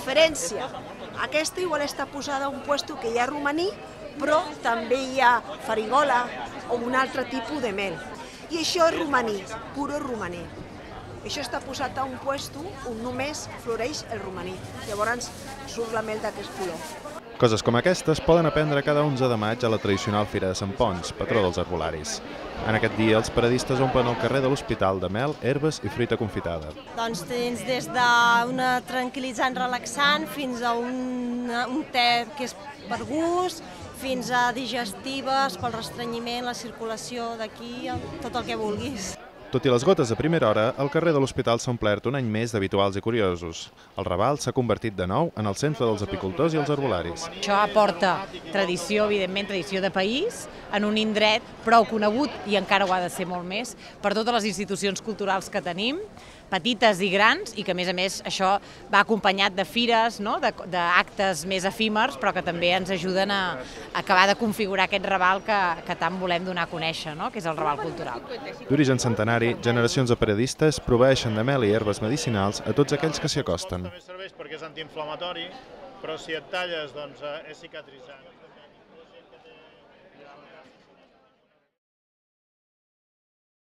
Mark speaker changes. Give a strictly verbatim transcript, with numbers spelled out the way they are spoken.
Speaker 1: diferència. Aquesta igual està posada a un lloc que hi ha romaní, però també hi ha farigola o un altre tipus de mel. I això és romaní, puro romaní. Això està posat a un lloc on només floreix el romaní. Llavors surt la mel d'aquest color.
Speaker 2: Coses com aquestes poden aprendre cada onze de maig a la tradicional Fira de Sant Ponç, patró dels herbolaris. En aquest dia els paradistes omplen el carrer de l'Hospital de mel, herbes i fruita confitada.
Speaker 3: Doncs tens des d'una tranquil·litzant relaxant fins a un, un te que és per gust, fins a digestives, pel restrenyiment, la circulació d'aquí, tot el que vulguis.
Speaker 2: Tot i les gotes a primera hora, el carrer de l'Hospital s'ha omplert un any més d'habituals i curiosos. El Raval s'ha convertit de nou en el centre dels apicultors i els herbolaris.
Speaker 4: Això aporta tradició, evidentment, tradició de país, en un indret prou conegut, i encara ho ha de ser molt més, per totes les institucions culturals que tenim, petites i grans, i que a més a més això va acompanyat de fires, no? d'actes més efímers, però que també ens ajuden a acabar de configurar aquest Raval que, que tant volem donar a conèixer, no? que és el Raval cultural.
Speaker 2: D'origen centenari, generacions de paradistes proveeixen de mel i herbes medicinals a tots aquells que s'hi acosten.
Speaker 5: També serveix perquè és antiinflamatori, però si et talles doncs és cicatritzant.